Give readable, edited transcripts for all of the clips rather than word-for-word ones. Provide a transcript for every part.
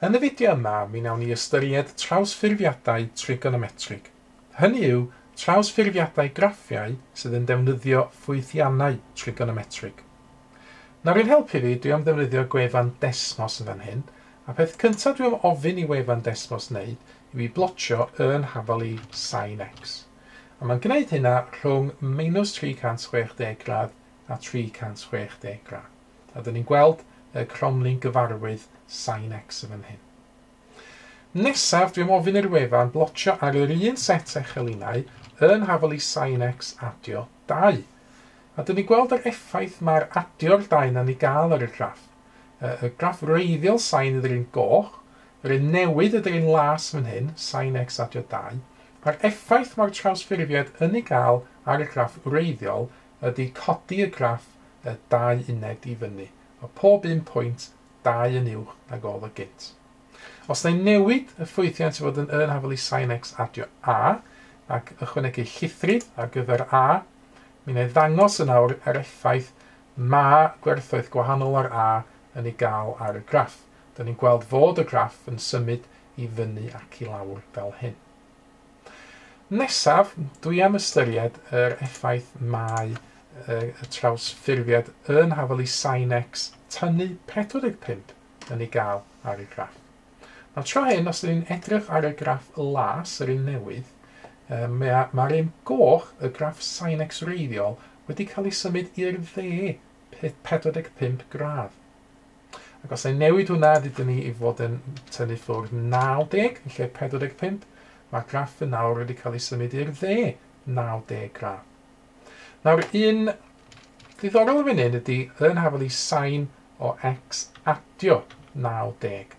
Yn y fideo yma, mi wnawn ni ystyried trawsffurfiadau trigonometrig. Hynny yw, trawsffurfiadau graffiau sydd yn defnyddio ffwythiannau trigonometrig. Nawr i'n helpu fi, dwi am ddefnyddio gwefan Desmos yn fan hyn, a peth cyntaf dwi am ofyn i wefan Desmos wneud yw i blotio yn hafal i sin x. A mae'n gwneud hynna rhwng minus 360 gradd a 360 gradd. A dyn ni'n gweld y cromlin gyfarwydd sin x yn fan hyn. Nesaf, dwi'n ofyn i'r wefan blotio ar yr un set echelinau yn hafal i sin x adio 2. A dyn ni'n gweld yr effaith mae'r adio'r 2 na'n ei gael ar y graff. Y graff wreiddiol sin ydy'r un goch, yr un newydd ydy'r un las fan hyn, sin x adio 2. Mae'r effaith mae'r trawsffurfiad yn ei gael ar y graff wreiddiol ydy codi y graff 2 uned i fyny. Mae pob un pwynt 2 yn uwch nag oedd o gynt. Os na i newid y ffwythiant i fod yn hafal i sin x adio a, ac ychwanegu llithrydd ar gyfer a, mi wna i ddangos yn awr yr effaith mae gwerthoedd gwahanol ar a yn ei gael ar y graff. Dyna ni'n gweld fod y graff yn symud i fyny ac i lawr fel hyn. Nesaf, dwi am ystyried yr effaith mae y trawsffurfiad yn hafal i sin x tynnu 45 yn ei gael ar y graff. Nawr tro hyn, os ydyn ni'n edrych ar y graff las, yr un newydd, mae'r un goch, y graff sin x wreiddiol, wedi cael ei symud i'r dde 45 gradd. Ac os y'n newid hwnna, dydyn ni i fod yn tynnu ffwrdd 90 yn lle 45, mae'r graff yn nawr wedi cael ei symud i'r dde 90 gradd. Nawr, un ddiddorol yn fan hyn ydy yn hafal i sin o x adio 90.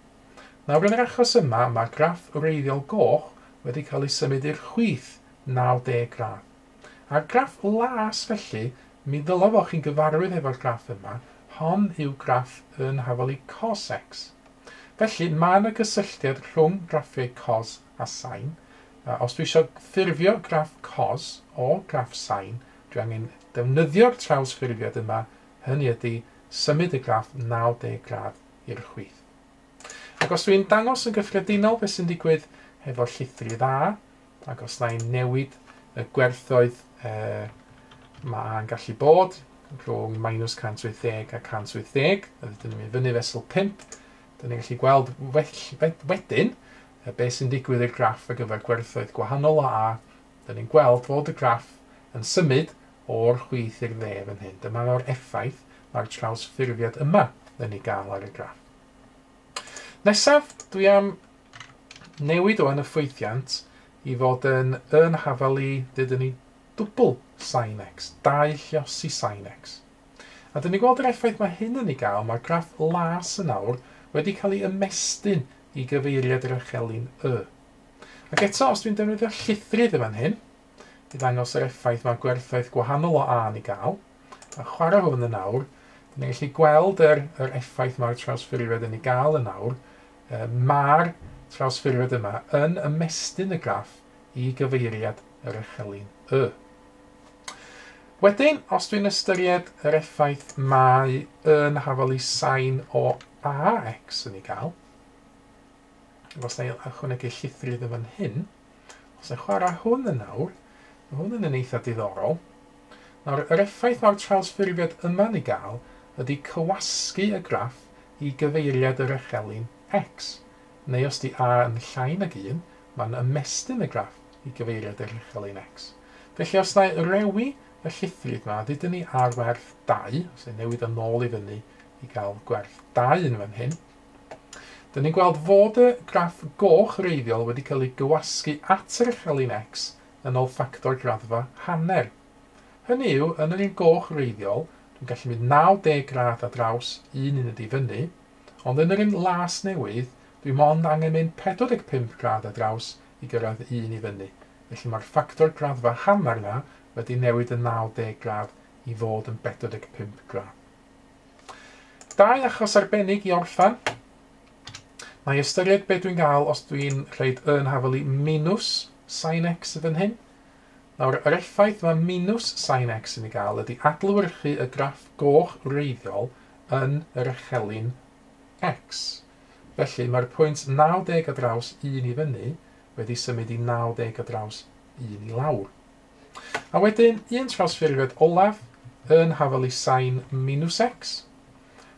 Nawr, yn yr achos yma, mae'r graff wreiddiol goch wedi cael ei symud i'r chwith 90 gradd. A'r graff las, felly, mi ddylai fod chi'n gyfarwydd efo'r graff yma, hon yw graff yn hafal i cos x. Felly, mae yna gysylltiad rhwng graffiau cos a sin. Os dwi eisiau ffurfio graff cos o graff sin, dwi angen defnyddio'r trawsffurfiad yma, hynny ydy symud y graff 90 gradd i'r chwith. Ac os dwi'n dangos yn gyffredinol beth sy'n digwydd hefo llithrydd A, ac os na i'n newid y gwerthoedd mae A'n gallu bod rhwng minus 180 a 180, a dyn ni'n mynd fyny fesul 5, dyn ni'n gallu gweld wedyn beth sy'n digwydd i'r graff ar gyfer gwerthoedd gwahanol o A. Dyn ni'n gweld fod y graff yn symud o'r chwith i'r dde fan hyn. Dyma'r effaith mae'r trawsffurfiad yma yn ei gael ar y graff. Nesaf, dwi am newid o yn y ffwythiant i fod yn hafal i, dydyn ni, dwbl sin x, 2 lliosi sin x. A dyn ni'n gweld yr effaith mae hyn yn ei gael, mae'r graff las yn awr wedi cael ei ymestyn i gyfeiriad yr echelin Y. Ac eto, os dwi'n defnyddio llithrydd yn fan hyn, i ddangos yr effaith mae gwerthoedd gwahanol o A yn ei gael, a chwarae hwn yn awr, dyn ni'n gallu gweld yr effaith mae'r trawsffurfiad yn ei gael yn awr. Mae'r trawsffurfiad yma yn ymestyn y graff i gyfeiriad yr echelin Y. Wedyn, os dwi'n ystyried yr effaith mae yn hafal i sin o ax yn ei gael, os na i ychwanegu llithrydd yn fan hyn, os na i chwarae hwn yn awr, mae hwn yn eitha diddorol. Nawr, yr effaith mae'r trawsffurfiad yma'n ei gael ydy cywasgu y graff i gyfeiriad yr echelin x. Neu os di a yn llai nag 1, mae'n ymestyn y graff i gyfeiriad yr echelin x. Felly, os na i rewi y llithrydd yma, dydyn ni ar werth 2, os ni'n newid yn ôl i fyny i gael gwerth 2 yn fan hyn, dyn ni'n gweld fod y graff goch wreiddiol wedi cael ei gywasgu at yr echelin x yn ôl ffactor graddfa hanner. Hynny yw, yn yr un goch wreiddiol, dwi'n gallu mynd 90 gradd ar draws un uned i fyny, ond yn yr un las newydd, dwi mond angen mynd 45 gradd ar draws i gyrraedd un i fyny. Felly mae'r ffactor graddfa hanner yna wedi newid yn 90 gradd i fod yn 45 gradd. Dau achos arbennig i orffan. Mae ystyried beth dwi'n gael os dwi'n rhaid yn hafal i minus sin x fan hyn. Nawr, yr effaith mae minus sin x yn ei gael ydy adlewyrchu y graff goch wreiddiol yn yr echelin x. Felly mae'r pwynt 90 ar draws 1 i fyny wedi symud i 90 ar draws 1 i lawr. A wedyn, un trawsffurfiad olaf yn hafal i sin minus x.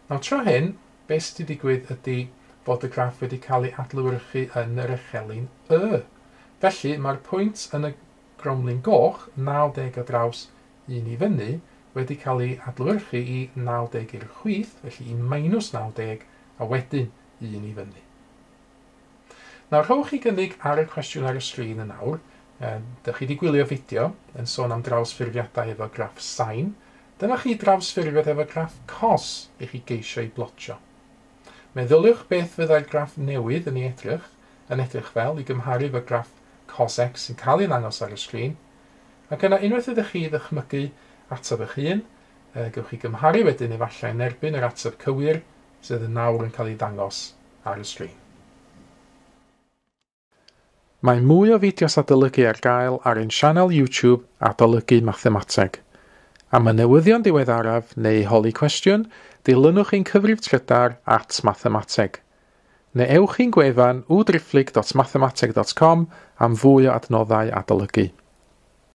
Nawr tro hyn, beth sydd wedi digwydd ydy fod y graff wedi cael ei adlewyrchu yn yr echelin Y. Felly mae'r pwynt yn y gromlin goch, 90 ar draws 1 i fyny, wedi cael ei adlewyrchu i 90 i'r chwith, felly i minus 90, a wedyn 1 i fyny. Nawr, rhowch chi gynnig ar y cwestiwn ar y sgrin yn awr. Dych chi wedi gwylio fideo yn sôn am drawsffurfiadau efo graff sain. Dyma chi drawsffurfiad efo graff cos i chi geisio ei blotio. Meddyliwch beth fyddai'r graff newydd yn ei edrych, yn edrych fel i gymharu efo graff cos x sy'n cael ei ddangos ar y sgrin. Ac yna unwaith ydych chi ddychmygu ateb eich hun, gewch chi gymharu wedyn efallai yn erbyn yr ateb cywir sydd yn nawr yn cael ei ddangos ar y sgrin. Mae mwy o fideos adolygu ar gael ar ein sianel YouTube Adolygu Mathemateg. Am y newyddion diweddaraf neu holi cwestiwn, dilynwch ein cyfrif trydar @mathemateg. Neu ewch i'n gwefan www.mathemateg.com am fwy o adnoddau adolygu.